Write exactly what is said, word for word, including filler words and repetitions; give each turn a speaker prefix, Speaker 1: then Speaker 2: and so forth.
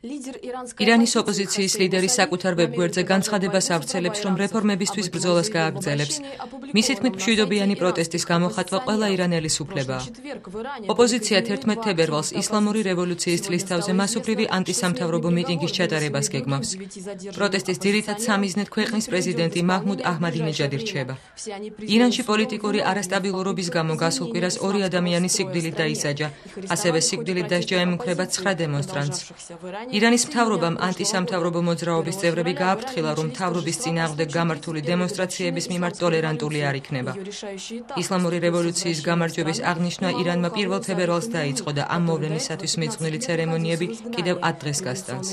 Speaker 1: ირანის ოპოზიციის ლიდერი საკუთარ ვებგვერდზე განცხადებას ავრცელებს, რომ რეფორმებისთვის ბრძოლას გააგრძელებს. მისი თქმით, მშვიდობიანი პროტესტის გამოხატვა ყველა ირანელის უფლებაა. ოპოზიცია თერთმეტ თებერვალს ისლამური რევოლუციის წლისთავზე მასობრივი ანტისამთავრობო მიტინგის ჩატარებას გეგმავს. პროტესტის ძირითად სამიზნედ ქვეყნის პრეზიდენტი მაჰმუდ აჰმადინეჯადი რჩება. ირანში პოლიტიკური არასტაბილურობის გამო გასულ კვირას ორი ადამიანი სიკვდილით დაისაჯა, ასევე სიკვდილით დასჯა ემუქრება ცხრა დემონსტრანტს. ირანის მთავრობამ ანტისამთავრობო მოძრაობის წევრები გააფრთხილა, რომ მთავრობის წინააღმდეგ გამართული დემონსტრაციების მიმართ ტოლერანტული არ იქნება. ისლამური რევოლუციის გამარჯვების აღნიშვნა ირანმა პირველ თებერვალს დაიწყო და ამ მოვლენისათვის მიძღვნილი ცერემონიები კიდევ ათ დღეს გასტანს.